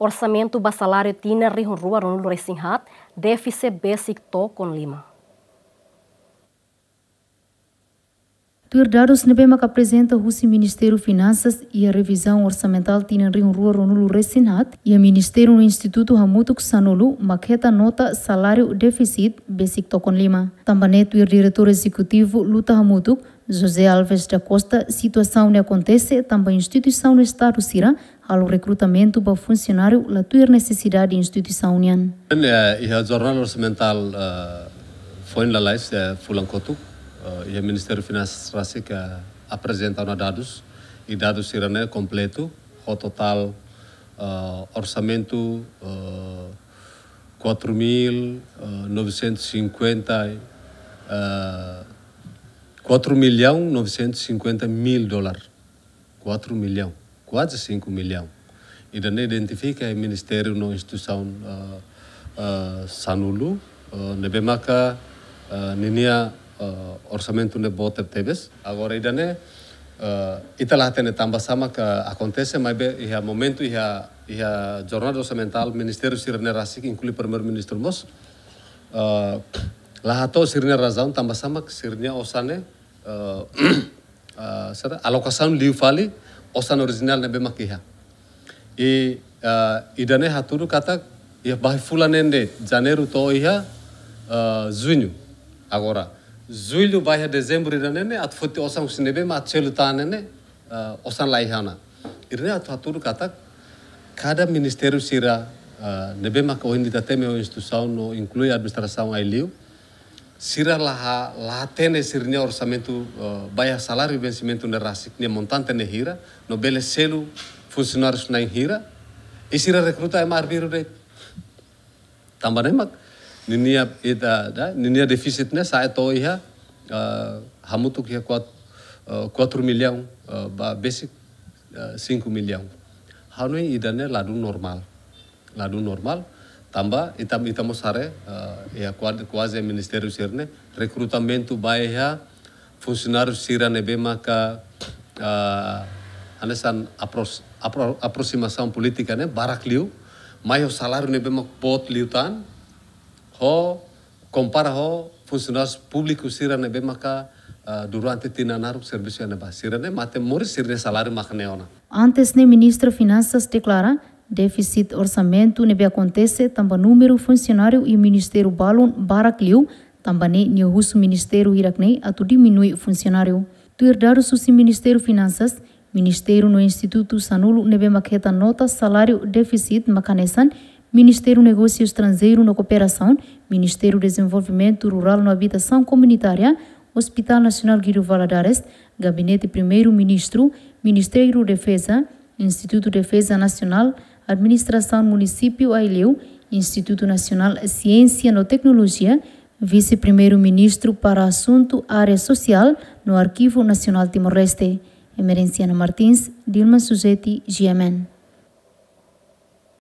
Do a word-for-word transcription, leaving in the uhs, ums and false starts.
Orsamentu ba saláriu tinan rihun rua ruanulu-resin-haat, défisit besik to'o lima. Tuir dadus ne'ebé maka aprezenta husi Ministériu Finansas iha revizaun orsamentál tinan rihun rua ruanulu-resin-haat, iha ministériu no institutu hamutuk sanulu mak hetan nota saláriu défisit besik to'o lima. Tanba ne'e tuir Diretór Ezekutivu Luta Hamutuk, José Alves da Costa, situasaun ne'e akontese tanba instituisaun Estadu sira halo rekrutamentu ba funsionáriu la tuir nesesidade instituisaun nian. Eh, iha jornál orsamentál, eh, foin lalais, eh, fulan kotuk, eh, iha Ministériu Finansas rasik aprezenta ona dadus, i dadus sira-ne'e kompletu, ho totál, eh, orsamentu, eh, quatro mil, eh, novecentos e cinquenta, eh, quatro milhão novecentos e cinquenta mil dólar. Quatro milhão, kuaze cinco milhão. Ida-ne'e identifika iha ministériu no instituisaun, eh, eh, sanulu, eh, ne'ebé maka, eh, ninia, eh, orsamentu ne'e boot tebes. Agora ida-ne'e, eh, ita la hatene tanba sá maka akontese, maibé iha momentu iha, iha jornada orsamentál ministériu sira-ne'e rasik, inklui Primeiru-Ministru mós, eh, la hato'o sira-nia razaun tanba sá mak sira-nia osan ne'e, eh, eh, sira alokasaun liu fali osan orijinál ne'ebé mak iha. I, eh, ida-ne'e hatudu katak iha bainhira fulan neen de'it, Janeiru to'o iha, eh, Juñu. Agora, Jullu ba iha Dezembru ida-ne'e ne'e, atu foti osan husi ne'ebé mak atu selu tan ne'e, eh, osan la iha ona. Ida-ne'e atu hatudu katak kada ministériu sira, eh, ne'ebé mak ohin ita temi ho instituisaun no inklui administrasaun Aileu, sira la ha-, la hatene sira-nia orsamentu, eh, ba iha saláriu vensimentu ne'e rasik nia montante ne'e hira, no bele selu funsionárius na'in hira, i sira rekruta ema arbiru de'it. Tanba ne'e mak ninia ida, da, ninia défisit ne'e sa'e to'o iha, eh, hamutuk iha kuat-, eh, quatro milhão, eh, ba besik, eh, cinco milhão. Ha'u hanoin ida-ne'e ladún normál. Ladún normál. Tanba ita, ita mós haree, eh, iha kuad-, kuaze ministériu sira-ne'e rekrutamentu ba iha funsionáriu sira ne'ebé maka, ah, hanesan apros-, apro-, aprosimasaun polítika ne'e barak liu, mai ho saláriu ne'ebé mak boot liután, ho kompara ho funsionáriu públiku sira ne'ebé maka, ah, durante tinan naruk servisu iha ne'ebá. Sira-ne'e mate moris sira-nia saláriu mak ne'e ona. Antes ne'e Ministra Finansas deklara, défisit orsamentu ne'ebé akontese tanba númeru funsionáriu iha ministériu balun barak liu, tanba ne'e nia husu ministériu hirak-ne'e atu diminui funsionáriu. Tuir dadus husi Ministériu Finansas, ministériu no institutu sanulu ne'ebé mak hetan nota saláriu défisit mak hanesan Ministériu Negósiu Estranjeiru no Kooperasaun, Ministériu Dezenvolvimentu Rurál no Abitasaun Komunitária, Hospital Nasionál Guido Valadares, Gabinete Primeiru-Ministru, Ministériu Defeza, Institutu Defeza Nasionál, Administrasaun Munisípiu Aileu, Institutu Nasionál Siénsia no Teknolojia, Vise-Primeiru-Ministru para Asuntu Área Sosiál no Arkivu Nasionál Timor-Leste. Emerenciana Martins, Dilma Suzeti, G M N.